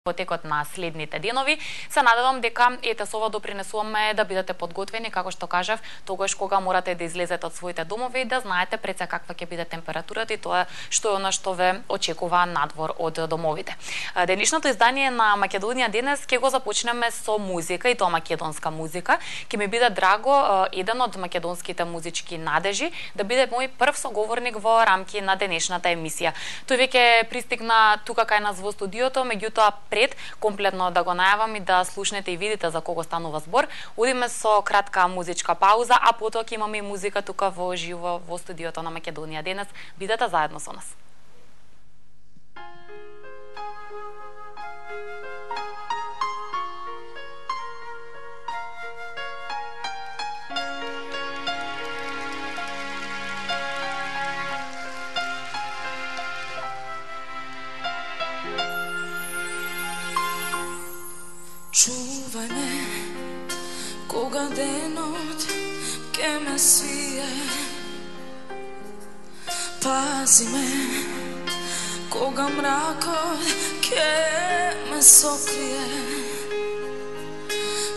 потекот на следните денови. Се надевам дека ете со ова допринесуваме да бидете подготвени, како што кажав, тогаш кога морате да излезете од своите домови и да знаете пред се каква ќе биде температурата и тоа што е она што ве очекува надвор од домовите. Денешното издание на Македонија денес ќе го започнеме со музика и тоа македонска музика. Ќе ми биде драго еден од македонските музички надежи да биде мој прв соговорник во рамки на денешната емисија. Тој веќе пристигна тука кај нас во студиото, меѓутоа пред комплетно да го најавам и да слушнете и видите за кого станува збор, одиме со кратка музичка пауза, а потоа ќе имаме и музика тука во живо во студиото на Македонија денес. Бидете заедно со нас. Чувај ме, кога денот ке ме свие. Пази ме, кога мракот ке ме сокрие.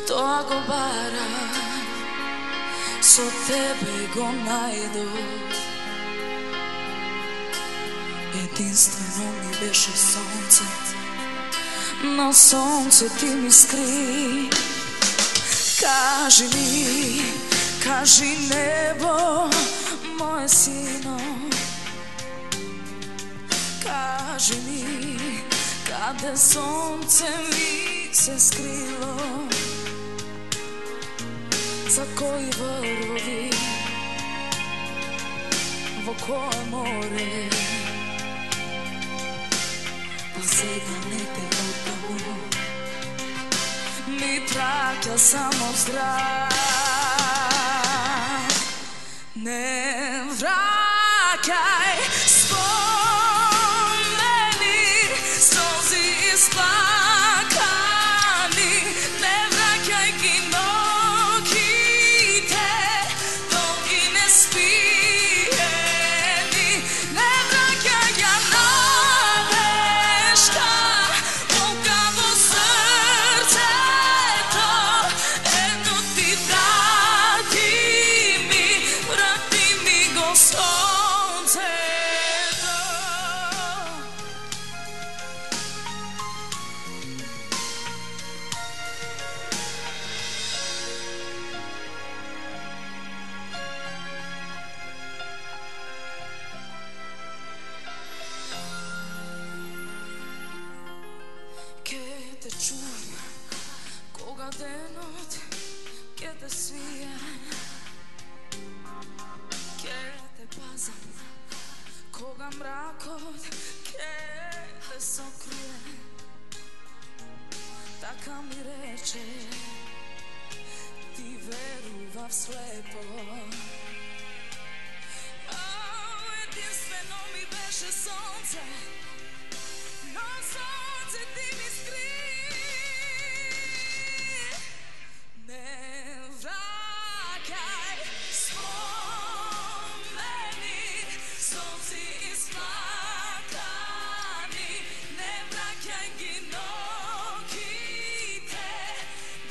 Тоа го барам, со тебе го најдов. Единствено ми беше сонце, на сонце ти ми скри. Кажи небо, моје сино. Кажи ми, каде сонце ми се скрило. За кои врвови, во кое море. Па сега не те оттаму, ми праќа само здрав. Не враќај спомени, солзи исплакани. Не враќај ги ноќите, долги неспиени. Не враќај ја надежта, болка во срцето. Едно ти врати ми го сонцето. Ке те чувам, кога денот ке те свие. Ке те пазам, кога мракот ке те сокрие. Така ми рече, ти верував слепо. Единствено ми беше сонце, но сонце ти ми скри. Не враќај спомени, солзи исплакани. Не враќај ги ноќите,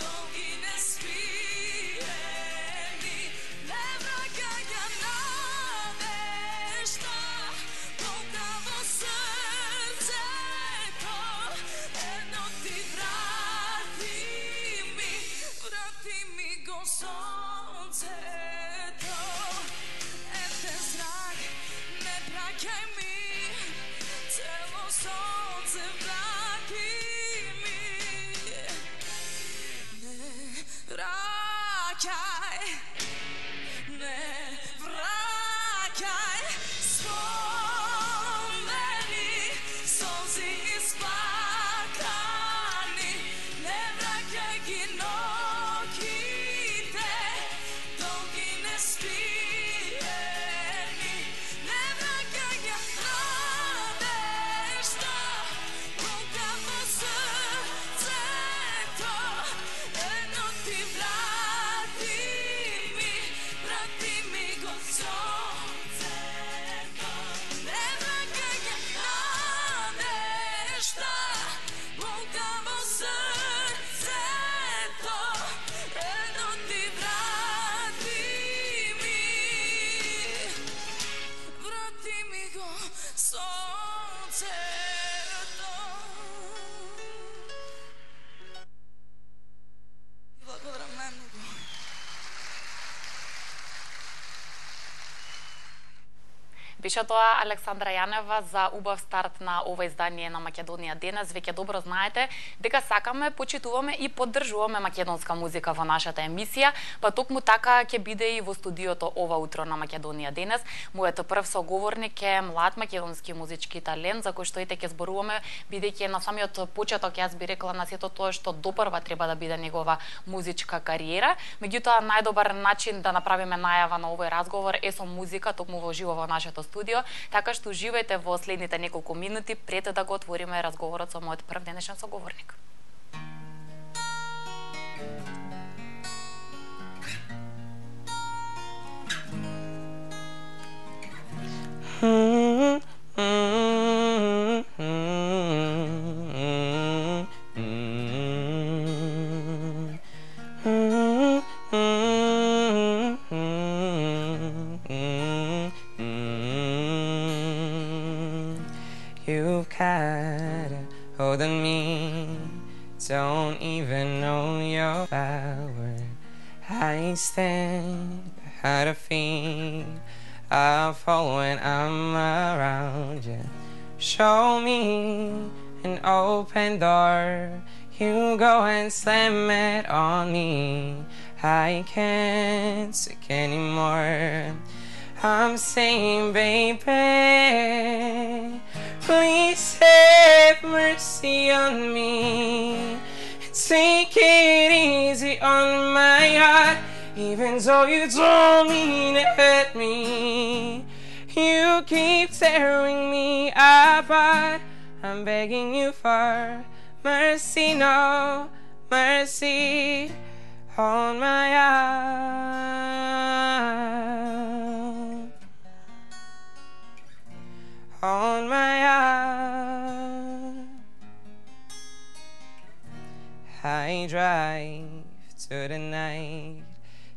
долги неспиени. Не враќај ја надежта, болка во срцето. Беше тоа Александра Јанева за убав старт на ова издание на Македонија денес. Веќе добро знаете дека сакаме, почитуваме и поддржуваме македонска музика во нашата емисија, па токму така ќе биде и во студиото ова утро на Македонија денес. Мојот прв соговорник е млад македонски музички талент, за кој што ете ќе зборуваме, бидејќи на самиот почеток јас би рекла на сето тоа што допрва треба да биде негова музичка кариера. Меѓутоа најдобар начин да направиме најава на овој разговор е со музика, токму во живо во нашето студио, така што уживајте во следните неколку минути пред да го отвориме разговорот со мојот прв денешен соговорник. You've got a hold on me, don't even know your power. I stand behind a feet, I fall when I'm around you. Show me an open door, you go and slam it on me. I can't take anymore. I'm saying, baby, please have mercy on me. Take it easy on my heart, even though you don't mean to hurt me. You keep tearing me apart. I'm begging you for mercy, no mercy on my heart, on my heart. I drive to the night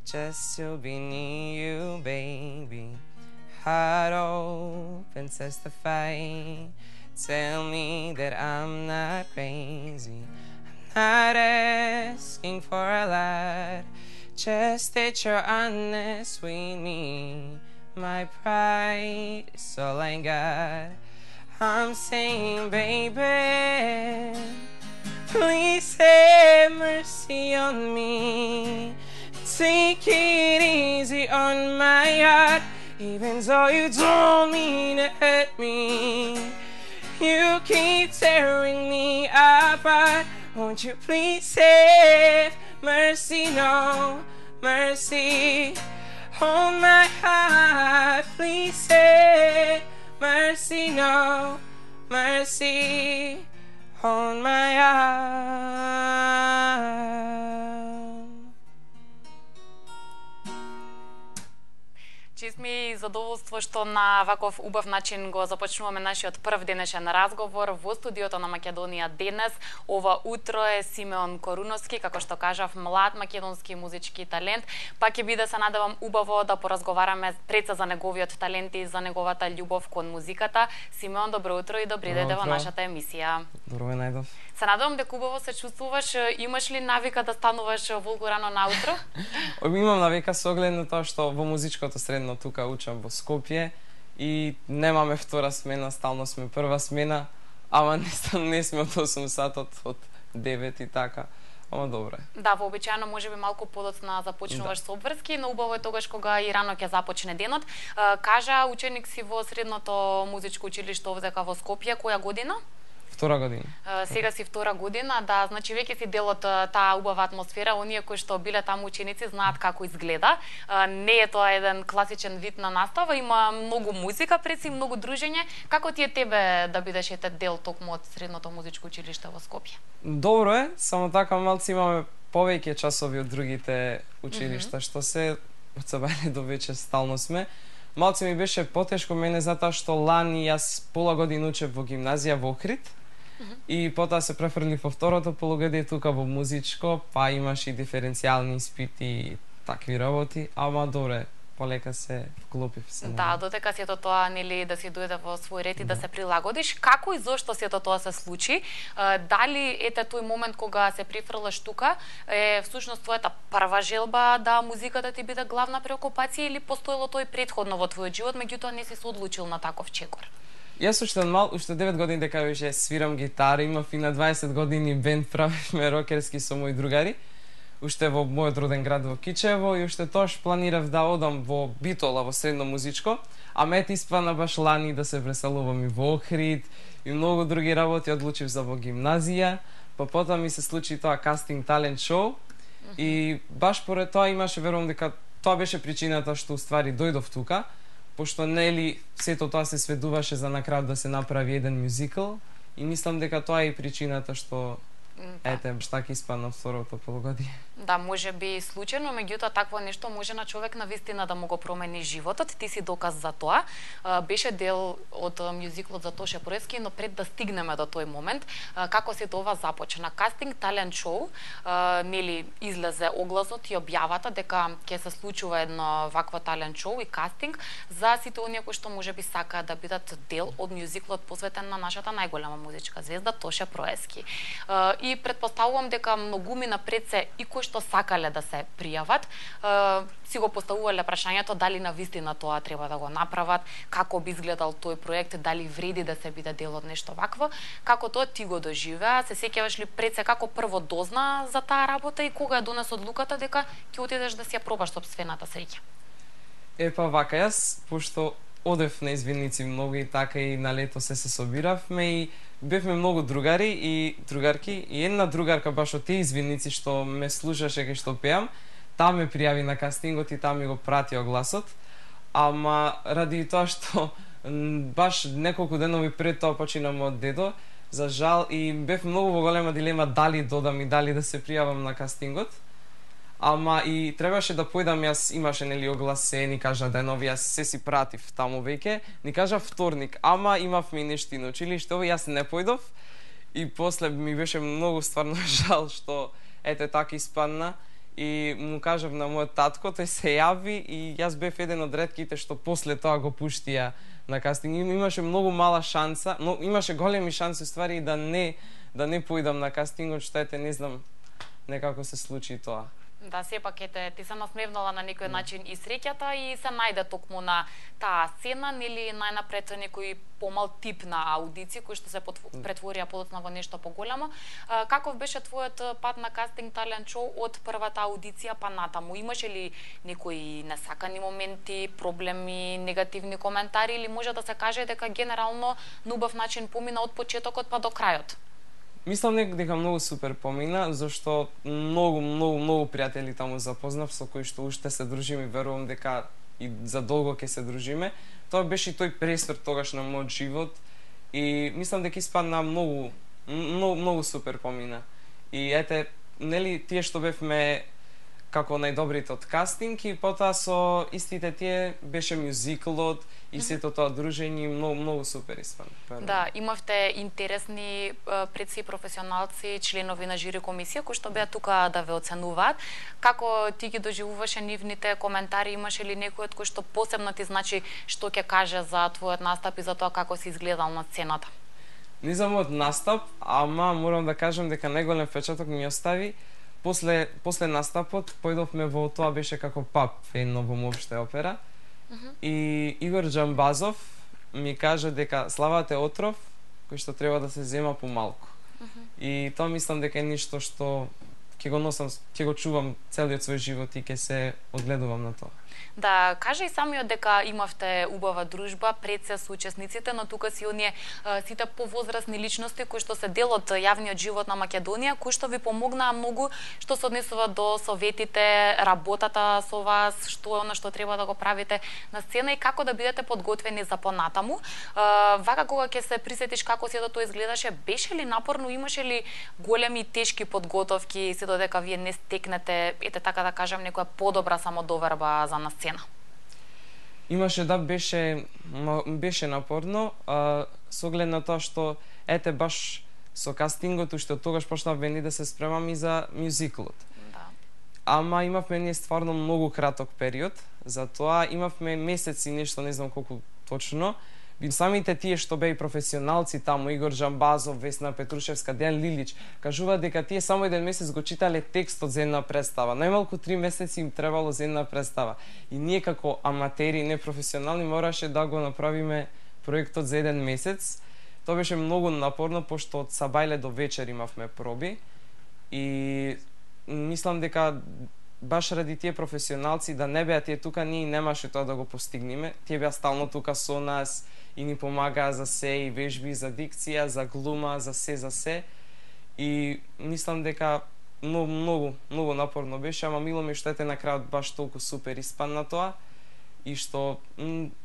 just to be near you, baby. Heart open, testify. Tell me that I'm not crazy. I'm not asking for a lot, just that you're honest with me. My pride is all I got. I'm saying, baby, please have mercy on me. Take it easy on my heart, even though you don't mean to hurt me. You keep tearing me apart. Won't you please have mercy, no mercy on my heart. Please have mercy, no mercy on my heart. Чест ми и задоволство што на ваков убав начин го започнуваме нашиот прв денешен разговор во студиото на Македонија денес. Ова утро е Симеон Коруновски, како што кажав, млад македонски музички талент. Па ќе биде, се надевам, убаво да поразговараме пред за неговиот талент и за неговата љубов кон музиката. Симеон, добро утро и добри дојде во нашата емисија. Добро ме најдов. Се надевам дека убаво се чувствуваш. Имаш ли навика да стануваш волку рано наутро? Имам навика со оглед на тоа што во музичкото средно тука учам во Скопје и немаме втора смена, стално сме прва смена, ама не сме од 8 сатот, од 9 и така. Ама добро е. Да, вообичаено можеби малку подоцна започнуваш со обврски, но убаво е тогаш кога и рано ќе започне денот. Кажа, ученик си во средното музичко училиште овдека во Скопје, која година? Втора година. Сега си втора година, да, значи веќе си дел од таа убава атмосфера, оние кои што биле таму ученици знаат како изгледа. Не е тоа еден класичен вид на настава, има многу музика, преси многу дружење. Како ти е тебе да бидеш ете дел токму од средното музичко училиште во Скопје? Добро е, само така малци имаме повеќе часови од другите училишта, што се од сабајле до вечер стално сме. Малци ми беше потешко мене затоа што лани јас пола година учев во гимназија во Охрид. И потоа се префрлив во второто полугодие тука во музичко, па имаш и диференцијални испити и такви работи, ама добре, полека се вклопив се. Да, дотека сето тоа нели да си дојде во свој ред и да се прилагодиш, како и зошто сето тоа се случи? Дали ете тој момент кога се прифрлаш тука е всушност твојата прва желба да музиката ти биде главна преокупација или постоело тој претходно во твојот живот, меѓутоа не си се одлучил на таков чекор? Јас уште 9 години дека веќе свирам гитара, имав и на 20 години бенд, правевме рокерски со мои другари. Уште во мојот роден град во Кичево и уште тоаш планирав да одам во Битола, во средно музичко, а мет испана баш лани да се преселувам и во Охрид и многу други работи, одлучив за во гимназија, па потоа ми се случи тоа кастинг талент шоу и баш поред тоа имаше, верувам дека тоа беше причината што уствари дојдов тука, пошто нели сето тоа се сведуваше за на крај да се направи еден мюзикл и мислам дека тоа е и причината што ете, така испадна второто полугодие. Да, може би случајно, меѓутоа такво нешто може на човек на вистина да му го промени животот. Ти си доказ за тоа. Беше дел од мюзиклот за Тоше Проевски, но пред да стигнеме до тој момент, како се тоа започна? Кастинг талент шоу, нели излезе огласот и објавата дека ќе се случува едно вакво талент шоу и кастинг за сите оние кои што можеби сакаат да бидат дел од мюзиклот посветен на нашата најголема музичка звезда Тоше Проевски. И претпоставувам дека многуми напред се и кои што сакале да се пријават, си го поставувале прашањето дали на вистина тоа треба да го направат, како би изгледал тој проект, дали вреди да се биде дел од нешто вакво, како тоа ти го доживеа, се сеќаваш ли пред се како прво дозна за таа работа и кога ја донес одлуката дека ќе отидеш да си ја пробаш сопствената среќа? Па вака, јас пошто одев на извинници многу и така и на лето се собиравме и бевме многу другари и другарки и една другарка баш од тие извинници што ме слушаше кај што пеам, таа ме пријави на кастингот и таа ми го прати огласот, ама ради тоа што баш неколку денови пред тоа почина мојот дедо, за жал и бев многу во голема дилема дали додам и дали да се пријавам на кастингот. Ама и требаше да појдам, јас имаше нели огласе, ни кажа денови, јас се си пратив таму веќе, ни кажа вторник, ама имавме и нешто на училиште, јас не појдов и после ми беше многу стварно жал што ете така испадна и му кажав на мојот татко, тој се јави и јас бев еден од ретките што после тоа го пуштија на кастинг. Имаше многу мала шанса, но имаше големи шанси ствари да не појдам на кастингот, што ете не знам, некако се случи тоа. Да, сепак ти се насмевнала на некој начин и среќата и се најде токму на таа сцена, нели најнапред некој помал тип на аудиции кои што се претворија подоцна во нешто поголемо. Каков беше твојот пат на кастинг талент шоу од првата аудиција па натаму? Имаше ли некои несакани моменти, проблеми, негативни коментари или може да се каже дека генерално на убав начин помина од почетокот па до крајот? Мислам дека многу супер помина, зашто многу пријатели таму запознав со кои што уште се дружиме и верувам дека и за долго ќе се дружиме. Тоа беше и тој пресврт тогаш на мојот живот и мислам дека испадна многу супер помина. И ете, нели тие што бевме како најдобрите од кастинг и потоа со истите тие беше мюзиклот и сето тоа дружење многу супер испадна. Да, имавте интересни предси професионалци, членови на жири комисија кои што беа тука да ве оценуваат. Како ти ги доживуваше нивните коментари? Имаше ли некој од кој што посебно ти значи што ќе каже за твојот настап и за тоа како си изгледал на сцената? Не за мојот настап, ама морам да кажам дека најголем впечаток ми остави после настапот појдовме во тоа беше како пап едно во Моопште опера. И Игор Џамбазов ми кажа дека славата е отров кој што треба да се зема помалку. И тоа мислам дека е нешто што ќе го носам, ќе го чувам целиот свој живот и ќе се одгледувам на тоа. Да, кажа и самиот дека имавте убава дружба пред се со учесниците, но тука си оние сите повозрасни личности кои што се дел од јавниот живот на Македонија, кои што ви помогнаа многу што се однесува до советите, работата со вас, што е она што треба да го правите на сцена и како да бидете подготвени за понатаму. Вака кога ќе се присетиш како сето тоа изгледаше, беше ли напорно, имаше ли големи тешки подготовки се додека вие не стекнете, ете така да кажам, некоја подобра самодоверба за на сцена? Имаше, да, беше напорно, со оглед на тоа што ете баш со кастингот уште од тогаш почнавме да се спремам и за мюзиклот. Да. ама имавме ние стварно многу краток период, затоа имавме месеци нешто, не знам колку точно. Самите тие што беа и професионалци таму, Игор Жамбазов, Весна Петрушевска, Дејан Лилич, кажуваат дека тие само еден месец го читале текстот за една представа. Најмалку 3 месеци им требало за една представа. И ние како аматери, непрофесионални, мораше да го направиме проектот за еден месец. Тоа беше многу напорно, пошто од сабајле до вечер имавме проби. И мислам дека баш ради тие професионалци да не беа тие тука, ние немаше тоа да го постигнеме. Тие беа стално тука со нас и ни помагаа за се, и вежби, за дикција, за глума, за се. И мислам дека многу напорно беше, ама мило ми што ете на крајот баш толку супер испадна тоа и што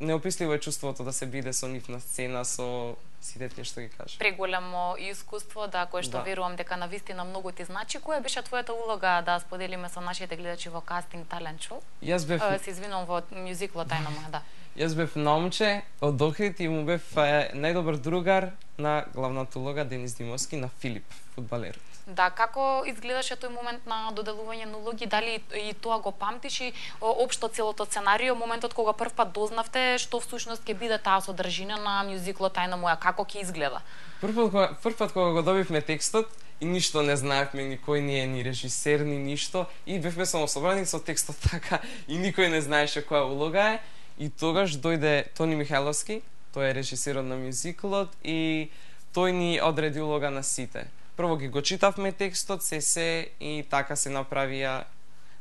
неописливо е чувството да се биде со нив на сцена, со сите тие што ги кажа. Преголемо искуство, да, кое што верувам дека навистина многу ти значи. Која беше твојата улога да споделиме со нашите гледачи во Кастинг Талент Шоу? Јас бев се извинувам, во мюзиклот Тајна моја, да. Јас бев момче од Охрид и му бев најдобар другар на главната улога Денис Димовски, на Филип, фудбалерот. Да, како изгледаше тој момент на доделување на улоги? Дали и тоа го памтиш и општо целото сценарио, моментот кога првпат дознавте што всушност ќе биде таа содржина на мюзиклот Тајна моја, како ќе изгледа? Првпат кога го добивме текстот и ништо не знаевме, никој не е ни режисер, ни ништо, и бевме само собрани со текстот така и никој не знаеше која улога е. И тогаш дојде Тони Михајловски, тој е режисерот на мюзиклот и тој ни одреди улога на сите. Прво ги го читавме текстот, се и така се направија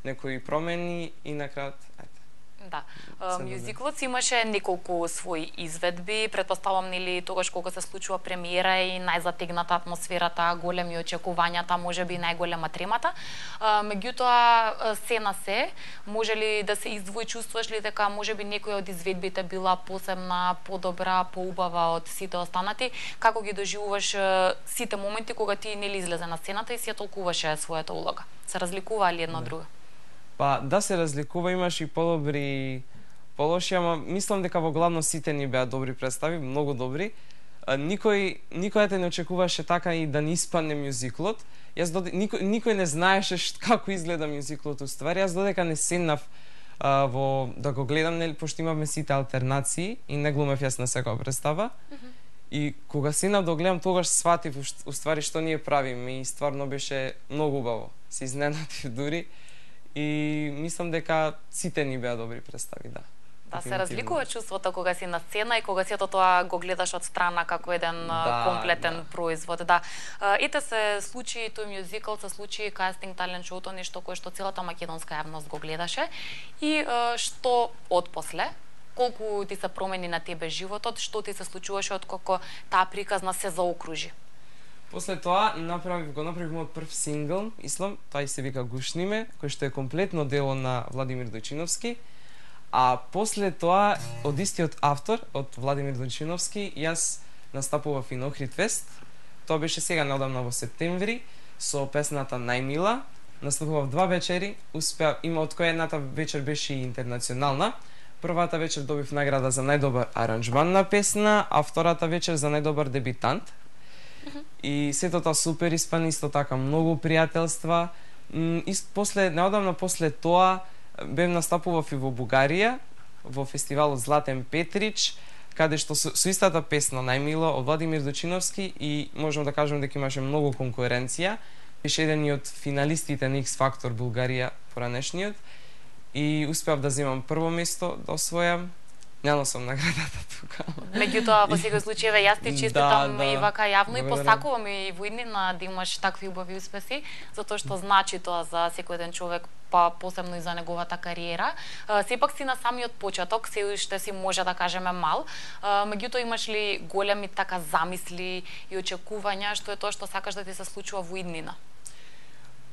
некои промени и на крајот, Да. Мюзиклот си имаше неколку своји изведби, претпоставам нели тогаш кога се случува премиера и најзатегната атмосферата, големи очекувањата, можеби најголема тремата. Меѓутоа се на се, може ли да се издвои, чувствуваш ли дека можеби некоја од изведбите била посебна, подобра, поубава од сите останати? Како ги доживуваш сите моменти кога ти нели излезе на сцената и си ја толкуваше својата улога? Се разликува ли едно од друго? Па да, се разликува, имаш и подобри, полоши, ама мислам дека во главно сите ни беа добри представи, многу добри. Никој не очекуваше така и да не испадне мюзиклот. Никој не знаеше како изгледа мюзиклот уствари. Јас додека не седнав да го гледам, нели, пошто имавме сите алтернации и не глумев јас на секоја представа. И кога седнав да гледам, тогаш сватив уствари што ние правиме и стварно беше многу убаво. Се изненадив дури. И мислам дека сите ни беа добри представи, да. Да, се разликува чувството кога си на сцена и кога сето тоа го гледаш од страна како еден комплетен производ. Да. Ете се случи тој мюзикл, се случи Кастинг Талент Шоуто, нешто кое што целата македонска јавност го гледаше. И што отпосле? Колку ти се промени на тебе животот? Што ти се случуваше откако таа приказна се заокружи? После тоа го направивме од прв сингл, Ислам, тој се вика Гушниме, кој што е комплетно дело на Владимир Дојчиновски. А после тоа, од истиот автор, од Владимир Дојчиновски, јас настапував и на Охрид Фест. Тоа беше сега неодамна во септември, со песната Најмила. Настапував 2 вечери, има од која едната вечер беше и интернационална. Првата вечер добив награда за најдобар аранџман на песна, а втората вечер за најдобар дебитант. И сето тоа супер испани, исто така многу пријателства. Неодамна после тоа бев настапував и во Бугарија, во фестивалот Златен Петрич, каде што со истата песна Најмила од Владимир Дојчиновски и можам да кажам дека имаше многу конкуренција. Беше еден од финалистите на X Factor Бугарија поранешниот и успеав да земам прво место, да освојам. Не носам наградата тука. Меѓутоа, во секој случај, јас ти честитам и вака јавно и посакувам и во иднина да имаш такви убави успеси, затоа што значи тоа за секој еден човек, па посебно и за неговата кариера. Сепак си на самиот почеток, се уште си може да кажеме мал. Меѓутоа, имаш ли големи така замисли и очекувања, што е тоа што сакаш да ти се случува во иднина?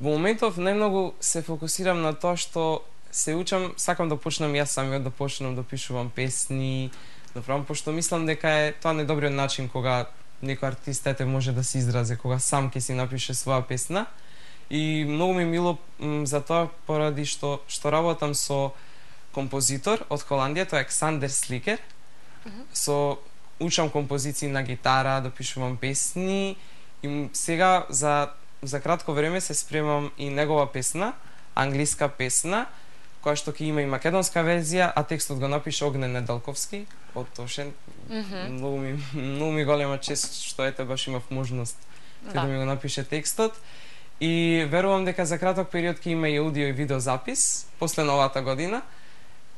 Во моментов најмногу се фокусирам на тоа што се учам, сакам да почнам јас самиот да почнам да пишувам песни, да правам, пошто мислам дека е тоа најдобриот начин кога некој артист може да се изрази, кога сам ќе си напише своја песна. И многу ми мило за тоа поради што работам со композитор од Холандија, тоа е Ксандер Сликер. Учам композиции на гитара, да пишувам песни и сега за кратко време се спремам и негова песна, англиска песна, која што ќе има и македонска верзија, а текстот го напише Огнен Неделковски од Тошен. Многу ми голема чест што ете баш имав можност да ми го напише текстот. И верувам дека за краток период ќе има и аудио и видео запис после новата година.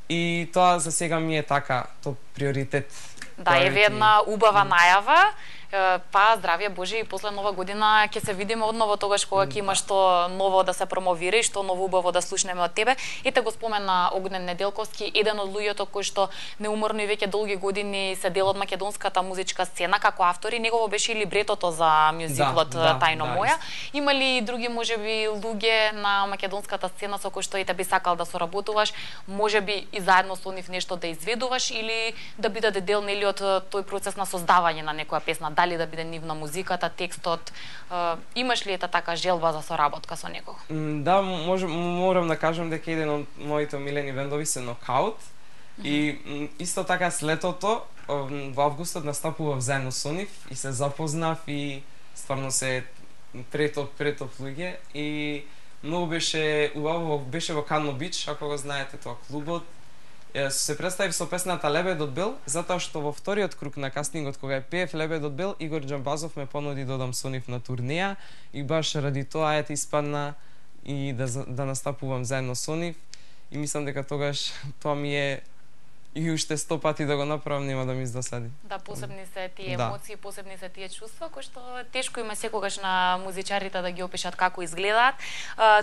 И тоа за сега ми е така, тоа приоритет. Да, еве една убава најава. Па здравје Боже и после нова година ќе се видиме одново тогаш кога ќе има што ново да се промовира и што ново убаво да слушнеме од тебе. Ете го спомена Огнен Неделковски, еден од луѓето кои што неуморно и веќе долги години се дел од македонската музичка сцена како автори. Негово беше и либретото за мюзиклот Тајно моја. Има ли други можеби луѓе на македонската сцена со кои што ете би сакал да соработуваш, можеби и заедно со нив нешто да изведуваш или да бидете дел нели од тој процес на создавање на некоја песна? Дали да биде нивна музиката, текстот, имаш ли ета така желба за соработка со некого? Да, морам да кажам дека еден од моите омилени бендови се Нокаут и исто така слетото во августот настапував заедно со нив и се запознав и стварно се претоп луѓе и многу беше убаво, беше во Кано Бич, ако го знаете тоа клубот. Се представив со песната Лебедот бел, затоа што во вториот круг на кастингот кога ја пеев Лебедот бел, Игор Џамбазов ме понуди да одам со нив на турнеја и баш ради тоа ете испадна и да настапувам заедно со нив и мислам дека тогаш тоа ми е и уште 100 пати да го направам нема да ми издосади. Да, посебни се тие емоции, посебни се тие чувства кои што тешко има секогаш на музичарите да ги опишат како изгледаат.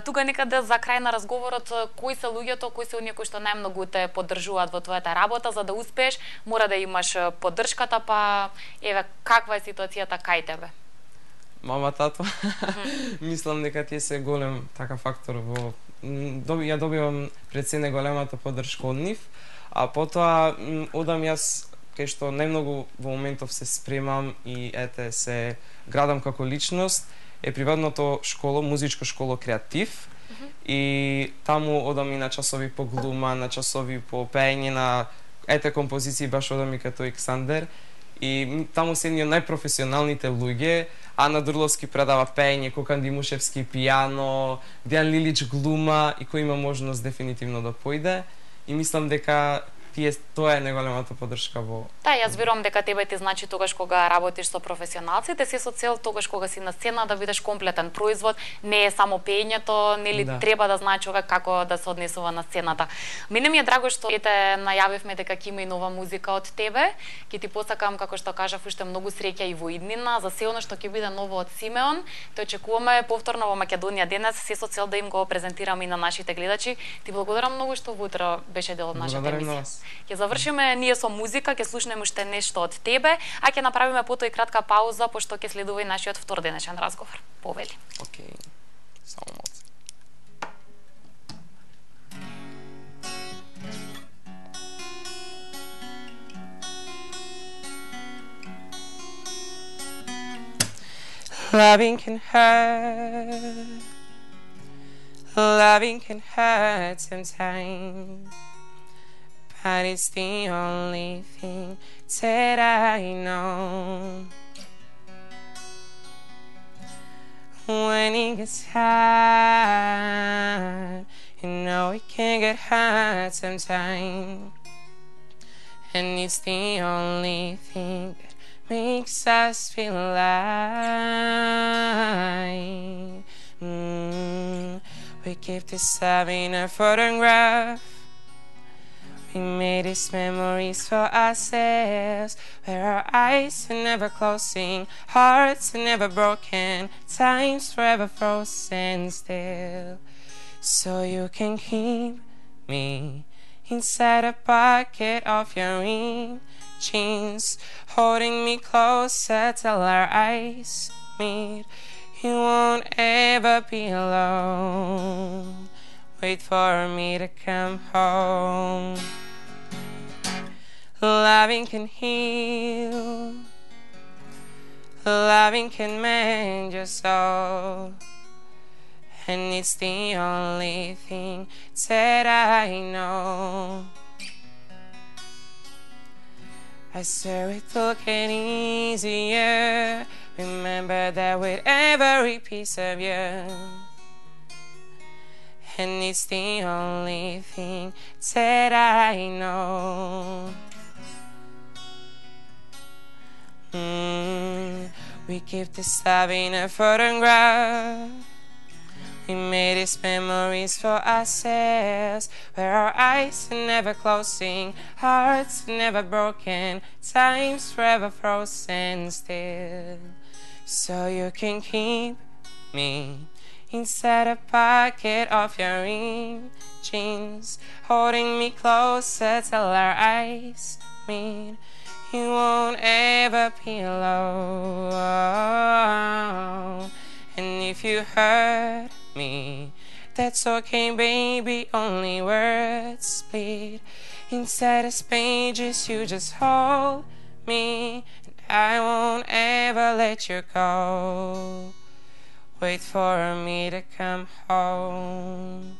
Тука некаде за крај на разговорот, кои се луѓето, кои се оние кои што најмногу те поддржуваат во твојата работа, за да успееш, мора да имаш поддршката, па еве каква е ситуацијата кај тебе? Мама, тато. Мислам дека тие се голем така фактор во ја добивам пред се неголемата поддршка од нив. А потоа одам јас кај што најмногу во моментов се спремам и ете се градам како личност е приватното школо, музичко школо Креатив. И таму одам и на часови по глума, на часови по пеење на ете композиции, баш одам и като Александер. И таму се едни од најпрофесионалните луѓе. Ана Дурловски предава пеење, Кокан Димушевски пијано, Дијан Лилич глума и кој има можност дефинитивно да појде. И мислам дека тоа е неголемата поддршка во... Да, јас верувам дека тебе ти значи тогаш кога работиш со професионалците, се со цел тогаш кога си на сцена да бидеш комплетен производ, не е само пеењето, нели треба да знае човек како да се однесува на сцената. Мене ми е драго што ете најавивме дека ќе има и нова музика од тебе. Ќе ти посакам, како што кажав, уште многу среќа и во иднина за се оно што ќе биде ново од Симеон. Те очекуваме повторно во Македонија денес, се со цел да им го презентираме и на нашите гледачи. Ти благодарам многу што утро беше дел од нашата емисија. Ќе завршиме ние со музика, ќе слушнеме уште нешто од тебе, а ќе направиме потоа и кратка пауза, пошто ќе следува и нашиот втор денешен разговор. Повели. Океј. Само малку. Loving can hurt. Loving can hurt sometimes. But it's the only thing that I know. When it gets hard, you know it can get hard sometimes. And it's the only thing that makes us feel alive. We keep this love in a photograph. We made these memories for ourselves, where our eyes are never closing, hearts are never broken, time's forever frozen still. So you can keep me inside a pocket of your jeans, holding me closer till our eyes meet. You won't ever be alone. Wait for me to come home. Loving can heal. Loving can mend your soul. And it's the only thing that I know. I swear it will get easier. Remember that with every piece of you. and it's the only thing that I know. We keep this love in a photograph. We made these memories for ourselves, where our eyes are never closing, hearts never broken, time's forever frozen still. So you can keep me inside a pocket of your jeans, holding me closer till our eyes meet. You won't ever be alone. And if you hurt me, that's okay, baby, only words bleed. Inside these pages, you just hold me, and I won't ever let you go. Wait for me to come home.